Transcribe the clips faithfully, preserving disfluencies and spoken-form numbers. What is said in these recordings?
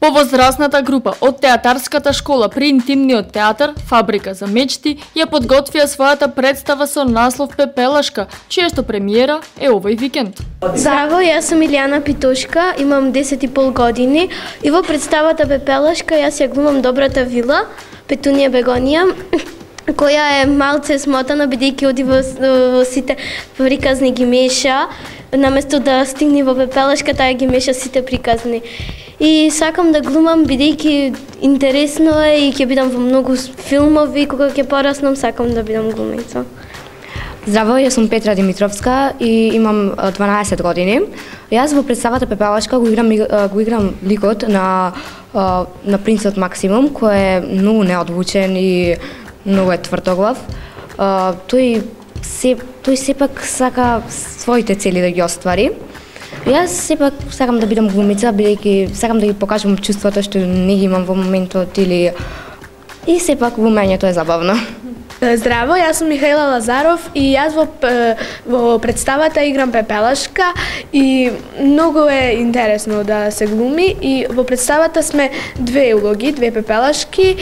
Повозрасната група од театарската школа при интимниот театар Фабрика за мечти ја подготвија својата представа со наслов Пепелашка, чијашто премиера е овој викенд. Здраво, јас сум Илијана Питошка, имам десет и пол години и во представата Пепелашка јас ја глумам добрата вила, Петунија Бегонија, која е малце смотана бидејќи оди во, во сите приказни ги меша, наместо да стигне во Пепелашка, таа ги меша сите приказни. И сакам да глумам бидејќи интересно е и ќе бидам во многу филмови, кога ќе пораснам сакам да бидам глумица. Здраво, јас сум Петра Димитровска и имам дванаесет години. Јас во представата Пепелашка го играм го играм ликот на на принцот Максимум, кој е многу неодвучен и многу е тврдоглав. Тој се тој сепак сака своите цели да ги оствари. Јас сепак сакам да бидам глумица, бидејќи сакам да ги покажам чувствата што не ги имам во моментот или и сепак глумењето е забавно. Здраво, јас сум Михаила Лазаров и јас во, во представата играм Пепелашка и многу е интересно да се глуми и во представата сме две улоги, две Пепелашки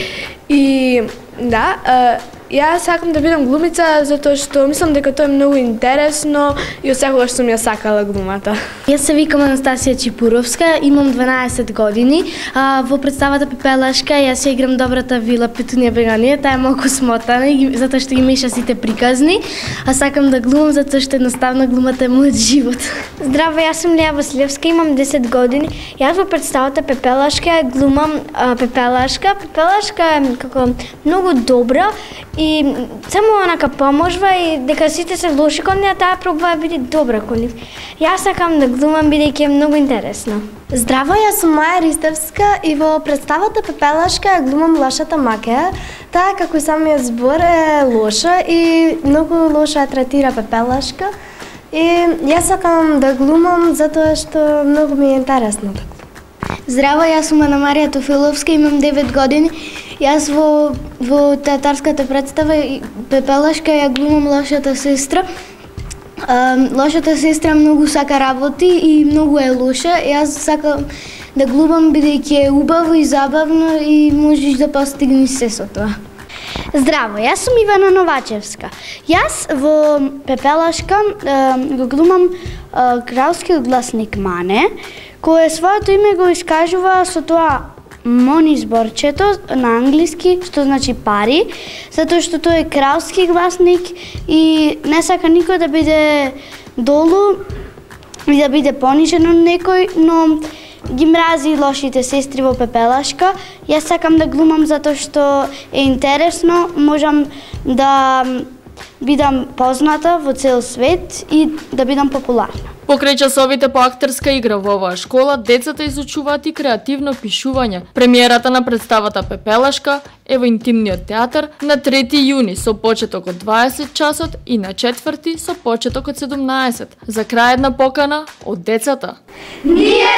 и да, јас сакам да бидам глумица затоа што мислам дека тоа е многу интересно и од секогаш сум ја сакала глумата. Јас се викам Анастасија Чипуровска, имам дванаесет години. А, во представата Пепелашка јас ја играм добрата вила Петунија Бегонија, таа е малку смотана затоа што ги меша сите приказни, а сакам да глумам затоа што едноставно глумата е мојот живот. Здраво, јас сум Леа Василевска, имам десет години. Јас во представата Пепелашка глумам а, Пепелашка. Пепелашка е како многу добра и само онака поможва и дека сите се лоши кон неа, таа пробува да биде добра кон нив. Јас сакам да глумам бидејќи е многу интересно. Здраво, јас сум Маја Ристевска и во представата Пепелашка ја глумам лошата Макеа. Таа како и самиот збор е лоша и многу лошо ја третира Пепелашка. И јас сакам да глумам затоа што многу ми е интересно да глумам. Здраво, јас сум Ана Марија Тофиловска, имам девет години. Јас во, во театарската представа Пепелашка ја глумам лошата сестра. А, лошата сестра многу сака работи и многу е лоша. Јас сакам да глумам бидејќи е убаво и забавно и можеш да постигнеш се со тоа. Здраво, јас сум Ивана Новачевска. Јас во Пепелашка а, го глумам а, кралскиот гласник Мане, кој своето име го искажува со тоа мони зборчето на англиски, што значи пари, затоа што тој е кралски гласник и не сака никој да биде долу и да биде понижен од некој, но ги мрази лошите сестри во Пепелашка. Јас сакам да глумам затоа што е интересно, можам да бидам позната во цел свет и да бидам популарна. Покрај часовите по актерска игра во оваа школа, децата изучуваат и креативно пишување. Премиерата на представата Пепелашка е во интимниот театар на трети јуни со почеток од дваесет часот и на четврти со почеток од седумнаесет. За крај една покана од децата. Ние